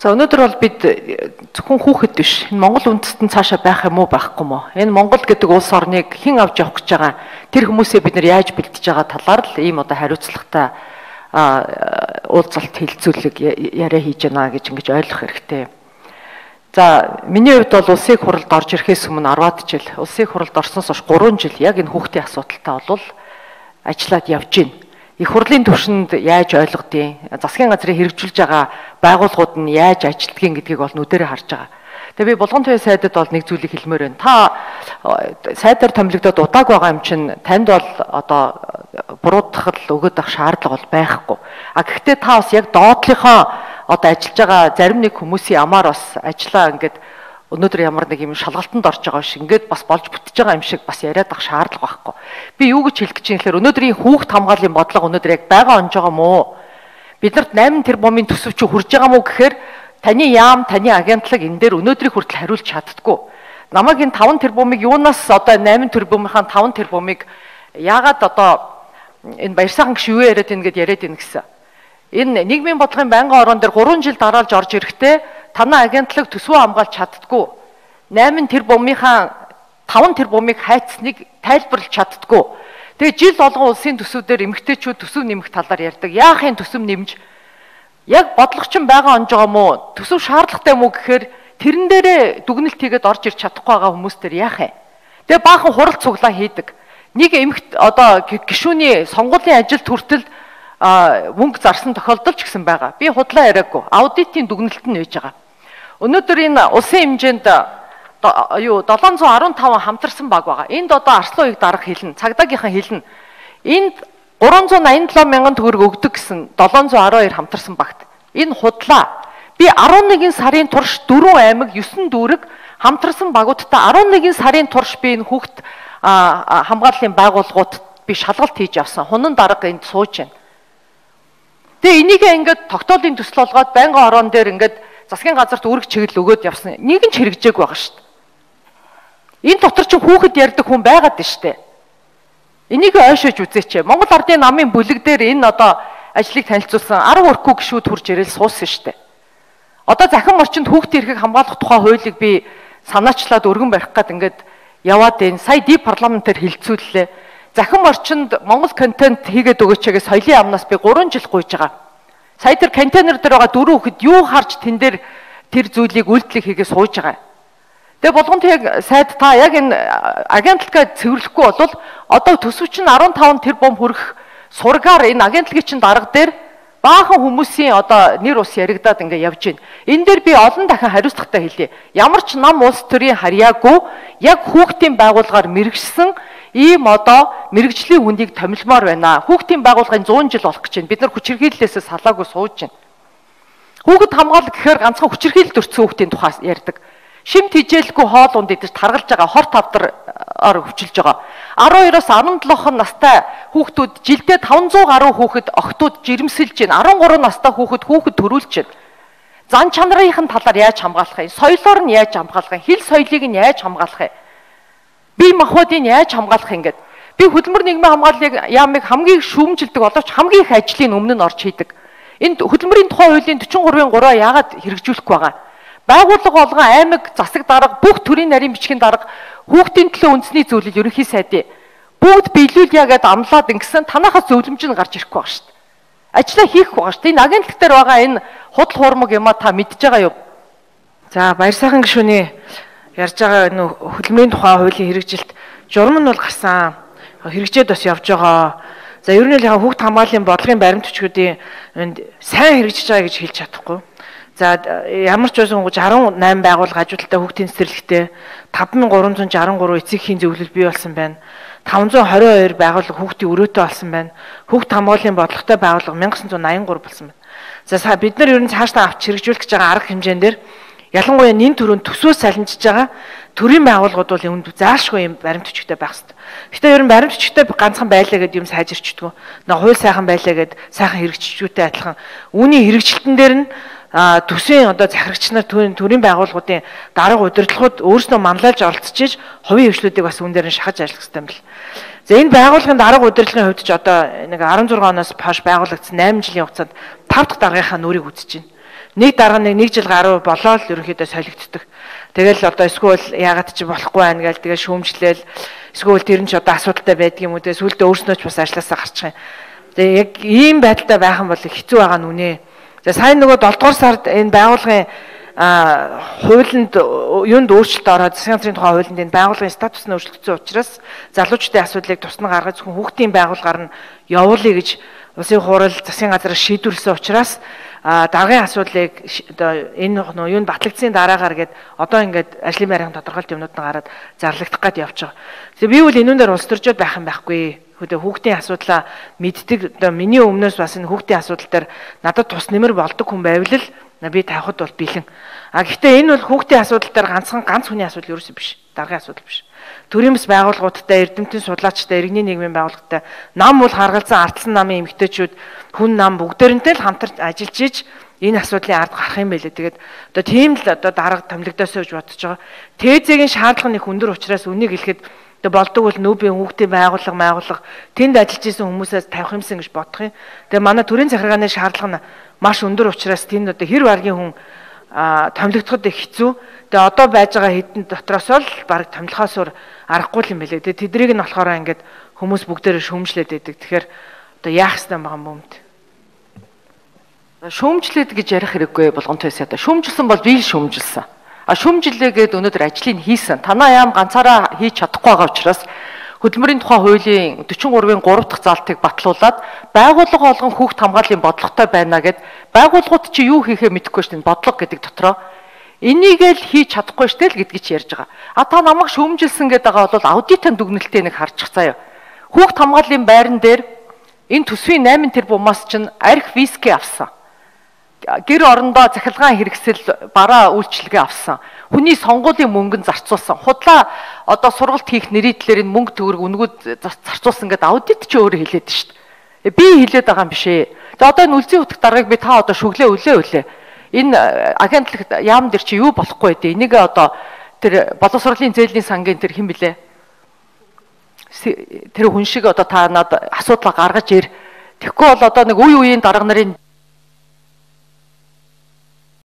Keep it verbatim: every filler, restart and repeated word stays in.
За өнөөдөр бол бид зөвхөн хүүхэд биш. Энэ Монгол үндэстэн цаашаа байх юм уу байхгүй юм уу? Энэ Монгол гэдэг улс орныг хэн авч явах гэж байгаа? Тэр хүмүүсээ бид нар яаж бэлдэж байгаа талаар л ийм одоо хариуцлагатай уулзалт хэлцүүлэг яриа хийж байна гэж ингэж ойлгох хэрэгтэй. За миний хувьд бол улсын хуралд орж ирэхээс өмнө арваад жил, улсын хуралд орсноос хойш гурван жил яг энэ хүүхдийн асуудалтай бол ажиллаад явж байна. Их хурлын түвшинд яаж ойлгодгийг, засгийн газрыг хэрэгжүүлж байгаа байгууллагууд нь яаж ажилтгийг гэдгийг бол нүдэрээ харж байгаа. Тэгээ би Булган туяа сайдад бол нэг зүйлийг хэлмээр байна. Та сайдаар томилогдоод удааг байгаа юм чинь танд бол одоо буруудахад өгöd ах шаардлага бол байхгүй. А гэхдээ та бас яг доотлихоо одоо ажиллаж байгаа зарим нэг хүмүүсийн амаар бас ажиллаа ингээд өнөөдөр ямар нэг юм шалгалтанд орж байгаа шиг ингээд бас болж бүтэж байгаа юм шиг бас яриад ах шаардлага байхгүй. Би юу гэж хэлэх гэж юм гэхээр өнөөдрийн хүүхд хамгааллын бодлого өнөөдөр яг байгаа онж байгаа мó? Биднэрт найман тэрбумын төсөв чи хүрж байгаа мó гэхээр таны яам, таны агентлаг энэ дээр өнөөдрийг хүртэл хариулж чаддаггүй. Намайг энэ таван тэрбумыг юунаас одоо найман тэрбумынхаа таван тэрбумыг яагаад одоо энэ баяр сайхан гiş юу яриад ийн гэд яриад ийн гэсэн. Энэ нийгмийн бодлогын байнгын орон дээр гурван жил дараалж орж ирэхдээ танай агентлаг төсвөө хамгаалж чаддаггүй. найман тэрбумынхаа таван тэрбумыг хайцсныг тайлбарлаж чаддаггүй. Тэгээ жил болгон улсын төсвүүдээр эмэгтэйчүүд төсөв нэмэх талаар ярьдаг. Яахын төсөв нэмж яг бодлогочин байгаа онж байгаа мó? Төсөв шаардлагатай мүү гэхээр тэрэн дээрээ дүгнэлт хийгээд орж ирч чадахгүй байгаа хүмүүс төр яах вэ? Тэгээ баахан хурал цуглаа хийдэг. Нэг эмэгт одоо гишүүний сонгуулийн ажилд хүртэл мөнгө зарсан тохиолдол ч гэсэн байгаа. Би худлаа яриаггүй. Аудитын дүгнэлт нь байж байгаа. Өнөөдөр энэ улсын хэмжээнд юу долоон зуун арван таван хамтарсан баг байгаа. Энд одоо Арслан уяг дарга хэлнэ, цагдаагийнхан хэлнэ. Энд гурван зуун аян долоо мянган төгрөг өгдөг гэсэн долоон зуун арван хоёр хамтарсан багт. Энэ худлаа. Би арван нэгэн сарын турш дөрвөн аймаг есөн дүүрэг хамтарсан багуудтай арван нэгэн сарын турш би энэ хүүхд хамгааллын байгууллагууд би шалгалт хийж авсан. Хунан дарга энд сууж байна. Тэгээ энийг ингээд тогтоолын төсөл болгоод байнгын орон дээр ингээд засгийн газарт үүрэг чиглэл өгөөд явсан. Нэг нь ч хэрэгжээгүй байгаа шүү дээ. Энэ дотор ч хүүхэд ярьдаг хүн байгаад байна шүү дээ. Энийг ойшоож үзээч. Монгол Ардын намын бүлэг дээр энэ одоо ажлыг танилцуулсан арав өрхүү гишүүд хурж ирэл суусан шүү дээ. Одоо захин орчинд хүүхдийн эрхийг хамгаалах тухай хуулийг би санаачлаад өргөн барих гээд ингээд яваад байна. Сая ди парламентээр хилцүүллээ. Захин орчинд Монгол контент хийгээд өгөөч гэж соёлын амнаас би гурван жил гуйж байгаа. Сая тэр контейнер дээр байгаа дөрөв хүүхэд юу харж тэн дээр тэр зүйлийг үйлдэлийг хийгээ сууж байгаа. Тэгээ Булган туяа сайд та яг энэ агентлагаа цэвэрлэхгүй бол одоо төсөв чинь арван таван тэрбум хүрэх сургаар энэ агентлагийн чинь дарга дээр баахан хүмүүсийн одоо нэр ус яригадаад ингээ явж байна. Энэ дээр би олон дахин хариуцлагатай хэлье. Ямар ч нам улс төрийн харьяагүй яг хүүхдийн байгууллагаар мэрэгсэн ийм одоо мэрэгжлийн хүнийг томилмоор байна. Хүүхдийн байгууллагын зуун жил болох гэж байна. Бид нар хүчирхийллээсээ салаагүй сууж байна. Хүүхэд хамгаалал гэхээр ганцхан хүчирхийлэлд өртсөн хүүхдийн тухай ярьдаг. Шимт хижээлгүй хоол унд идэж таргалж байгаа хорт тавдраар хөвчилж байгаа. арван хоёроос арван долоо настай хүүхдүүд жилдээ таван зуун гаруй хүүхэд охтууд жирэмсэлж байна. арван гурван настай хүүхэд хүүхэд төрүүлж байна. Зан чанарын талаар яаж хамгаалах юм? Соёлоор нь яаж хамгаалах юм? Хил соёлыг нь яаж хамгаалах юм? Бие махбодыг яаж хамгаалах юм гээд би хөдөлмөр нийгмийн хамгааллыг яамыг хамгийн шүүмжилдэг боловч хамгийн их ажлын өмнө нь орж хийдэг. Энд хөдөлмөрийн тухай хуулийн дөрвөн гурвын гураа яагаад хэрэгжүүлэхгүй байгаа? Байгууллага болгон аймаг засаг дарга бүх төрлийн нарийн бичгийн дарга хүүхдийн төлөө үндэсний зөвлөл ерөнхий сайдын бүгд биелүүлъя гэдээ амлаад ингэсэн танахаас зөвлөмж нь гарч ирэхгүй байгаа шүү дээ. Ажлаа хийх байгаа шүү дээ. Энэ агентлаг дээр байгаа энэ худал хуурмаг юмаа та мэдж байгаа юу? За баяр сайхан гишүүний ярьж байгаа энэ хөдөлмөрийн тухай хуулийн хэрэгжилт журам нь бол гарсан. Хэрэгжээд бас явж байгаа. За ер нь л хүүхд хамгааллын бодлогын баримт төчгүүдийн сайн хэрэгжиж байгаа гэж хэлж чадахгүй. За ямар ч байсан арван найман байгууллага ажилтнтай хүүхдийн цэцэрлэгтэй таван мянган гурван зуун жарган гурван эцэгхийн зөвлөл бий болсон байна. таван зуун хорин хоёр байгууллага хүүхдийн өрөөтэй болсон байна. Хүүхд хамгааллын бодлоготой байгууллага мянган девятьсот восемьдесят три болсон байна. За бид нар ер нь цаашдаа авч хэрэгжүүлэх гэж байгаа арга хэмжээнд дээр ялангуяа нэн төрөнд төсвөөс салинжиж байгаа төрийн байгууллагууд бол үүнд заашгүй юм баримт төчгтэй байх хэрэгтэй. Гэхдээ ер нь баримт төчгтэй ганцхан байлаа гэдэг юм сайжирчдгүү. Нэг хууль сайхан байлаа гэд сайхан хэрэгжчихүүтэй адилхан. Үүний хэрэгжилтэн дээр нь төсвийн одоо захирагч нар төрийн байгууллагуудын дарга удирдлагууд өөрснөө манлайлж оролцож хувийн хөгжлүүдийг бас үүн дээр нь шахаж ажиллах хэрэгтэй юм бэл. За энэ байгууллагын дарга удирдлагын хувьд ч одоо нэг арван зургаан оноос хойш байгуулагдсан найман жилийн хугацаанд тав дахь даргынхаа нүрийг үзэж байна. нэг дараа нэг нэг жил гаруй болоо л ерөнхийдөө солигддог. Тэгэл одоо эсвэл яагаад чи болохгүй байна гээл тэгээ шүүмжлээл эсвэл тэр нь ч одоо асуудалтай байдаг юм уу те сүулдэ өөрснөө ч бас ажилласаа гарчих юм. Тэгээ яг ийм байдалтай байх юм бол хэцүү байгаа нь үнэ. За сайн нөгөө долдугаар сард энэ байгууллагын хуулинд юунд өөрчлөлт ороод засгийн газрын тухай хуулинд энэ байгууллагын статус нь өөрчлөгдсөн учраас залуучдын асуудлыг тусна гаргаж зөвхөн хүүхдийн байгууллагаар нь явуулъя гэж улсын хурал засгийн газраас шийдвэрлсэн учраас даргын асуудлыг одоо энэ нөө юунд батлагдсан дараагаар гээд одоо ингээд ажлын байрын тодорхойлт юмнууд нь гараад зарлагдах гээд явж байгаа. Тэгээ би бол энүүн дээр улс төржөөд байх юм байхгүй. Хөдөө хүүхдийн асуудлаа мэддэг одоо миний өмнөөс бас энэ хүүхдийн асуудал дээр надад тус нэмэр болдог хүн байвал л би тавихад бол бэлэн. А гэхдээ энэ бол хүүхдийн асуудал дээр ганцхан ганц хүний асуудал ерөөсөө биш. Даргын асуудал биш. Төрийн бас байгууллагуудтай, эрдэмтэн судлаачтай, иргэний нийгмийн байгууллагатай нам бол харгалзан ардсан намын эмэгтэйчүүд хүн нам бүгдээрэнтэй л хамтарч ажиллаж иж энэ асуудлын ард гарах юм байлээ. Тэгээд одоо тийм л одоо дарга томилогдосоо гэж бодож байгаа. Тээзэгийн шаардлага нэг өндөр учраас үнийг хэлэхэд одоо болдог бол нүүбийн хүүхдийн байгууллага, байгууллага тэнд ажиллаж исэн хүмүүсээс тавих юмсан гэж бодох юм. Тэгээд манай төрийн захиргааны шаардлага нь маш өндөр учраас тэнд одоо хэр баргийн хүн томилогдоход их хэцүү. Тэгээ одоо байж байгаа хэдэн дотроос л баг томилхоосоор аргагүй юм байлээ. Тэгээ тэдрийг нь болохоор ингээд хүмүүс бүгдээрээ шүүмжлээд байдаг. Тэгэхээр одоо яах ёстой байгаа юм бэ? Шүүмжлээд гэж ярих хэрэггүй болгон тойсоо. Шүүмжилсэн бол би л шүүмжилсэн. А шүүмжлээгээд өнөөдөр ажлыг хийсэн. Танаа яам ганцаараа хийж чадахгүй байгаа учраас хөдөлмөрийн тухай хуулийн дөрвөн гурвын гурав дахь залтыг батлуулаад байгууллага болгон хүүхд хамгааллын бодлоготой байна гэд байгууллагууд чи юу хийхээ мэдэхгүй шүү дээ. Бодлого гэдэг дотроо энийг л хийж чадахгүй штэ л гэдгийг чи ярьж байгаа. А та намайг шүүмжилсэн гэдэг байгаа бол аудитын дүгнэлтээ нэг харчих заяа. Хүүхд хамгааллын байран дээр энэ төсвийн найман тэрбумаас чинь арх виски авсан. Гэр орондоо захиргаан хэрэгсэл бараа үйлчлэгээ авсан. Хүний сонгуулийн мөнгөнд зарцуулсан. Худлаа одоо сургалт хийх нэрийдлэр энэ мөнгө төгрөг үнгүүд зарцуулсан гэдэг аудит ч өөрөө хэлээд шүү дээ. Би хэлээд байгаа юм биш ээ. За одоо энэ үлзий утга даргаыг би та одоо шүглээ үлээ үлээ. Энэ агентлагт яам дээр чи юу болохгүй дээ. Энийг одоо тэр боловсролын зээлийн сангийн тэр хэн блэ? Тэр хүн шиг одоо та надад асуудал гаргаж ир. Тэгэхгүй бол одоо нэг үе үеийн дарга нарын